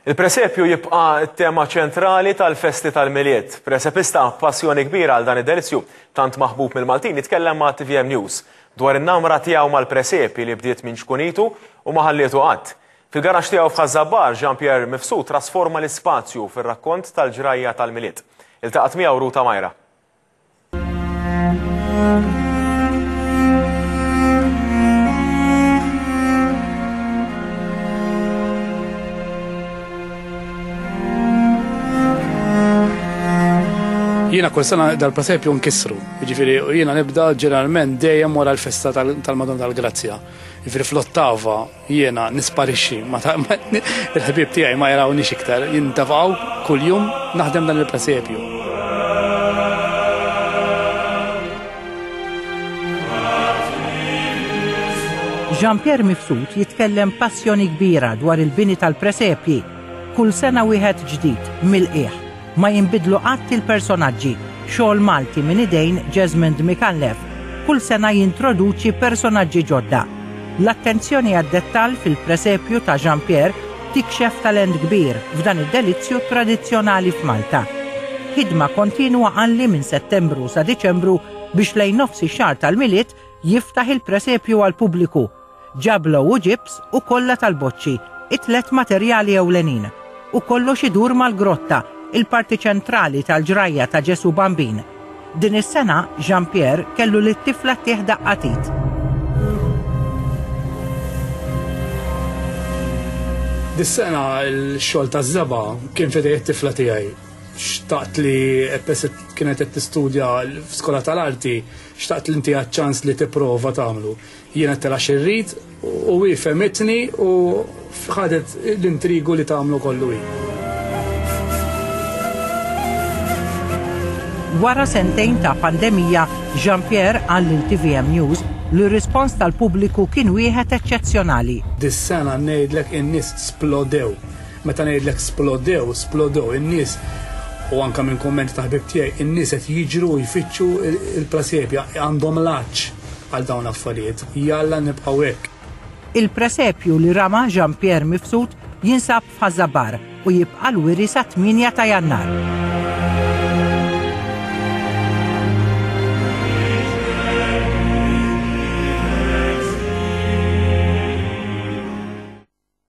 Il-presepju jibqa' t-tema ċentrali tal-festi tal-Milied. Presepista b'passjoni kbira għal dan id-delizzju tant maħbub mill-Maltin jitkellem ma' tvm News dwar in-namra tiegħu mal-presepi li bdiet minn ċkunitu u ma ħallietu qatt. Fil-garaxx tiegħu f'Ħaż-Żabbar, Jean Pierre Mifsud trasforma l-ispazju fir-rakkont tal-ġrajja tal-Milied. Iltaqgħet miegħu Ruta Majra. Jiena kull sena dal-presepju nkissru, jiġifieri jiena nibda ġeneralment dejjem wara l-festa tal-Madonna tal-Grazzja. Jiġifieri fl-ottava Jiena nisparixxi, il-ħbieb tiegħi ma jarawnix iktar, jintefgħu kuljum naħdem dan il-presepju. Jean Pierre Mifsud jitkellem b'passjoni kbira dwar il-bini tal-presepji. Kull sena wieħed ġdid, mill-qiegħ. Ma jinbidlu qatt il-personaġġi, xogħol Malti minn idejn Jesmond Micallef, kull sena jintroduċi personaġġi ġodda. L-attenzjoni għad-dettall fil-presepju ta' Jean Pierre tikxef talent kbir f'dan id-delizzju tradizzjonali f'Malta. Ħidma kontinwa qalli minn Settembru sa Diċembru biex lejn nofs ix-xahar tal-Milied jiftaħ il-presepju għall-pubbliku Ġablo u ġibs u kolla tal-boċċi, it-tlett materjali ewlenin. U kollox idur mal-grotta, il-parti ċentrali tal-ġrajja ta' Ġesù Bambin. Din is-sena, Jean Pierre kellu lit-tifla ttih daqqa t'id. Dis-sena l-xogħol taż-żebgħa kien f'idej it-tifla tiegħi. Xtaqt li peress li kienet qed tistudja f'skola tal-arti, xtaqt li ntiha ċ-ċans li tipprova tagħmlu. Jien għedtilha xi rrid u hi fehmitni u ħadet l-intrigu li tagħmlu kollu hi. Wara sentejn ta' pandemija, Jean Pierre qal lil tvm News li r-rispons tal-pubbliku kien wieħed eċċezzjonali. Dis-sena ngħidlek in-nies splodew. Meta ngħidlek splodew, splodew. In-nies u anke minn kummenti ta' ħbieb tiegħi, in-nies qed jiġru u jfittxu l-presepja, għandhom l-għatx. għal dawn l-affarijiet. Jalla nibqgħu hekk. Il-presepju li rama Jean Pierre Mifsud jinsab f'Ħaż-Żabbar u jibqa' l-wiri sat-tmienja ta' Jannar.